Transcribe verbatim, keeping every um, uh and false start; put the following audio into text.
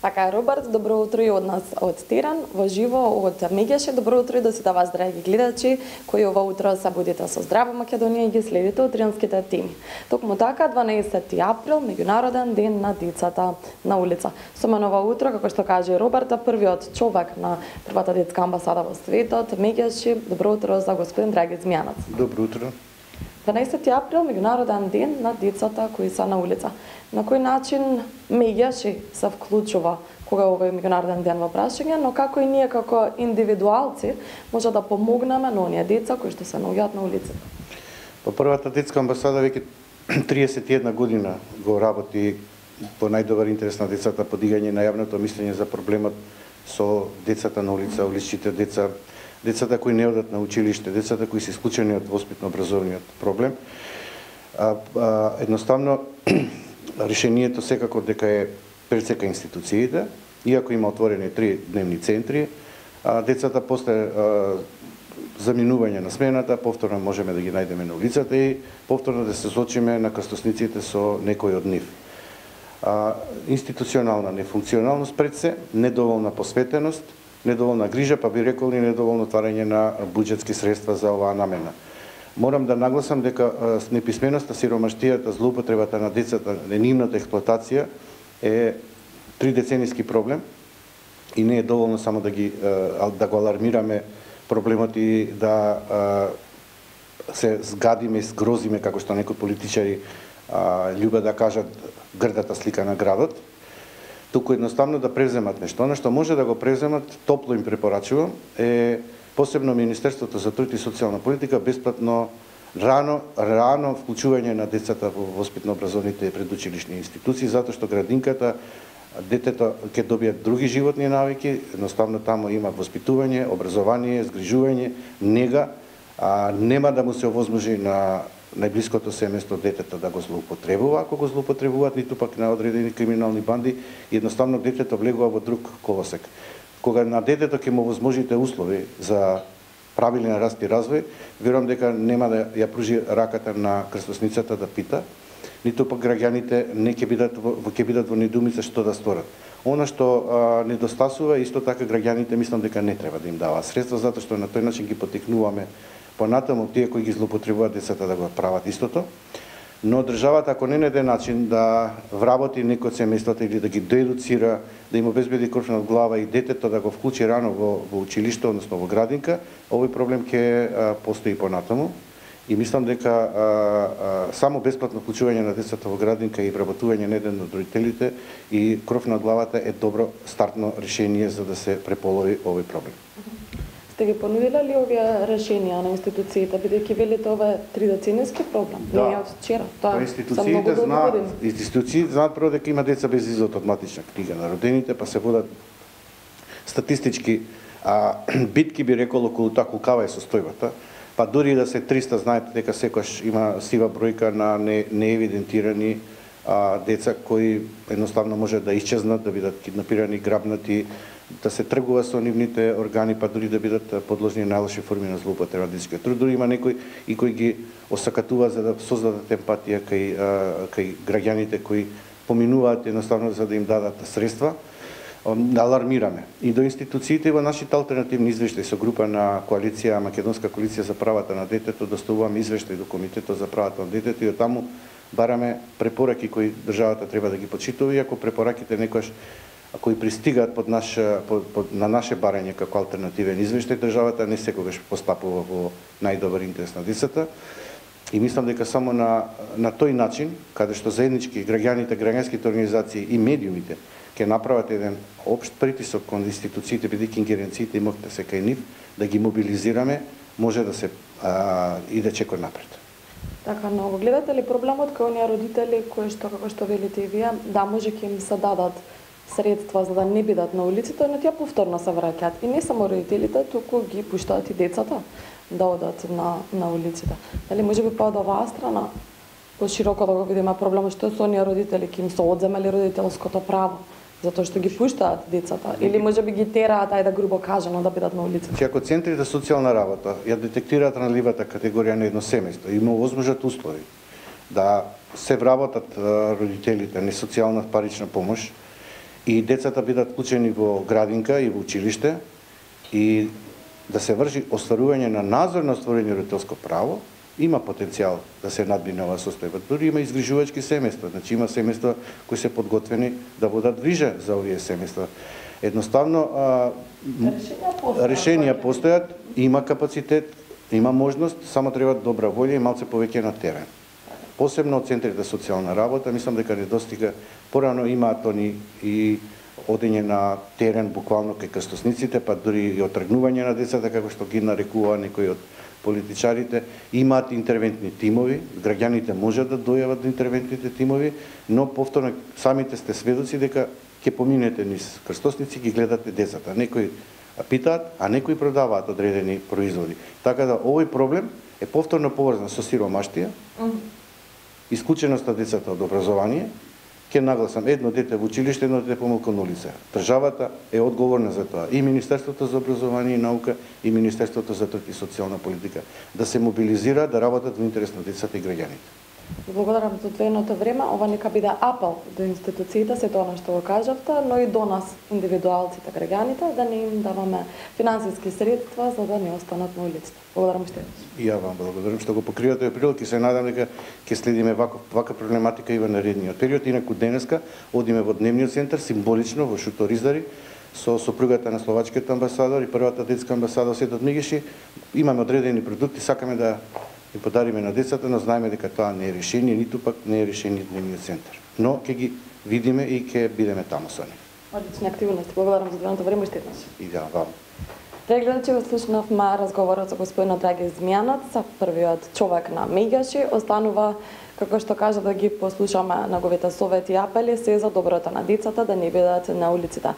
Така е, Роберт, добро утро и од нас од Тиран, во живо од Меѓеше. Добро утро и до сите вас, драги гледачи, кои ова утро се будите со Здрава Македонија и ги следите од тиранските теми. Токму така, дванаесети април, меѓународен ден на децата на улица. Со мен ова утро, како што каже Роберта, првиот човек на првата детска амбасада во светот, Меѓеше. Добро утро за господин Драги Змијанац. Добро утро. дванаесети април, меѓународен ден на децата кои се на улица. На кој начин Меѓеше се вклучува кога овој меѓународен ден во прашање, но како и ние како индивидуалци може да помогнеме на оние деца кои што се наоѓаат на улицата? По првата детска амбасада веќе триесет и една година го работи по најдобар интерес на децата, подигање на јавното мислење за проблемот со децата на улица, уличните деца, децата кои не одат на училиште, децата кои се исклучени од воспитно-образовниот проблем. А, а, едноставно решението секако дека е пресека институциите, иако има отворени три дневни центри, а, децата после а, заминување на смената повторно можеме да ги најдеме на улицата и повторно да се сочиме на крстосниците со некој од нив. А, институционална нефункционалност пред се, недоволна посветеност, недоволна грижа, па би рекол и недоволно отварање на буџетски средства за оваа намена. Морам да нагласам дека неписменоста, сиромаштијата, злоупотребата на децата, нивната експлоатација е тридецениски проблем и не е доволно само да ги да го алармираме проблемот и да се згадиме и згрозиме, како што некои политичари љубат да кажат, грдата слика на градот, туку едноставно да превземат нешто. Она што може да го превземат, топло им препорачувам, е посебно Министерството за труд и социјална политика бесплатно рано рано вклучување на децата во воспитно-образовните предучилишни институции, затоа што градинката, детето ќе добијат други животни навики, едноставно таму има воспитување, образование, згрижување, нега, а нема да му се овозможи на најблиското семејство детето да го злоупотребува, ако го злоупотребуваат, ниту пак на одредени криминални банди, едноставно детето влегува во друг колосек. Кога на детето ќе му возможите услови за правилен раст и развој, верувам дека нема да ја пружи раката на крстосницата да пита, ниту пак граѓаните не ќе бидат ќе бидат во недоумица што да сторат. Она што а, недостасува, исто така граѓаните мислам дека не треба да им даваат средства, затоа што на тој начин ги потекнуваме понатаму тие кои ги злоупотребуваат децата да го прават истото. Но државата, ако не најде начин да вработи некој од семејствата или да ги доедуцира, да им обезбеди кров над глава и детето да го вклучи рано во, во училиште, односно во градинка, овој проблем ќе постои понатаму. И мислам дека а, а, само бесплатно вклучување на децата во градинка и вработување на еден од родителите и кров над главата е добро стартно решение за да се преполови овој проблем. Сте ги понудиле ли овие решенија на институциите, бидејќи велите ова е тридецениски проблем? Да. Не од вчера. Тоа институциите знаат, институциите знаат прво дека има деца без изод од матична книга на родените, па се водат статистички а, битки, би рекол, околу тоа колкава е состојбата. Па дури да се триста, знаете дека секојаш има сива бројка на не, неевидентирани а, деца кои едноставно може да исчезнат, да бидат киднапирани, грабнати, да се тргува со нивните органи, па дури да бидат подложни на најлоши форми на злоупотреба на детскиот труд. Дури има некои и кои ги осакатуваат за да создадат емпатија кај, кај граѓаните кои поминуваат едноставно за да им дадат средства. Алармираме и до институциите и во нашите алтернативни извештаи со група на коалиција, Македонска коалиција за правата на детето, доставуваме извештаи до Комитетот за правата на детето и од таму бараме препораки кои државата треба да ги почитува, иако препораките некојаш кои пристигаат под наш, под, под, на наше барање како алтернативен извештај, државата не секогаш постапува во најдобар интерес на децата. И мислам дека само на, на тој начин, каде што заеднички граѓаните, граѓанските организации и медиумите ќе направат еден општ притисок кон институциите, бидејќи ингеренциите имате се кај нив, да ги мобилизираме, може да се а, иде чекор напред. Така, но го гледате ли проблемот кај оние родители кои што, како што велите и вие, да може ќе им се дадат средства за да не бидат на улиците, но тие повторно се враќаат. И не само родителите, туку ги пуштаат и децата да одат на, на улиците. Дали може би па од оваа страна пошироко да го видиме проблемот што со оние родители ќе им се одземали родителското право, затоа што ги пуштаат децата, или може би ги тераат, ајде грубо кажано, да бидат на улицата. Че ако центрите за социјална работа ја детектираат ранливата категорија на едно семејство, има возможат услови да се вработат родителите на социјална парична помош и децата бидат вклучени во градинка и во училиште и да се врши остварување на надзор на остварување родителско право, има потенцијал да се надмине оваа состојба. Дури има изгрижувачки семејства, значи има семејства кои се подготвени да водат грижа за овие семејства. Едноставно а, решенија постојат, има капацитет, има можност, само треба добра волја и малце повеќе на терен. Посебно од центрите за социјална работа, мислам дека недостига, порано имаат они и одење на терен буквално кај крстосниците, па дури и отргнување на децата, како што ги нарекува некои од политичарите, имаат интервентни тимови, граѓаните можат да дојават до интервентните тимови, но повторно самите сте сведоци дека ќе поминете низ крстосници, ги гледате децата. Некои питаат, а некои продаваат одредени производи. Така да овој проблем е повторно поврзан со сиромаштија, исклученост на децата од образование. Ке нагласам, едно дете во училиште, едно дете помалку на улица. Државата е одговорна за тоа. И Министерството за образование и наука, и Министерството за труд и социјална политика. Да се мобилизира, да работат во интерес на децата и граѓаните. Благодарам за одвоеното време. Ова нека биде апел до институциите, се тоа што го кажавте, но и до нас, индивидуалците, граѓаните, да не им даваме финансиски средства за да не останат на улицата. Благодарам уште еднаш. И ја вам благодарам што го покривате овој прилог и се надам дека ќе следиме вака, вака проблематика и во наредниот период. Инаку денеска одиме во дневниот центар, символично во Шутор Издари, со сопругата на словачкиот амбасадор и првата детска амбасада Светот Мегеши. Имаме одредени продукти, сакаме да и подариме на децата, но знаеме дека тоа не е решение, ниту пак не е решение дневниот центар. Но ќе ги видиме и ќе бидеме таму со нив. Одлични активности. Благодарам за одвоеното време уште еднаш. И да, вам. Драги гледачи, го слушнавме разговорот со господинот Драги Змијанац, првиот човек на Мегеши. Останува, како што кажа, да ги послушаме неговите совети и апели се за доброто на децата, да не бидат на улиците.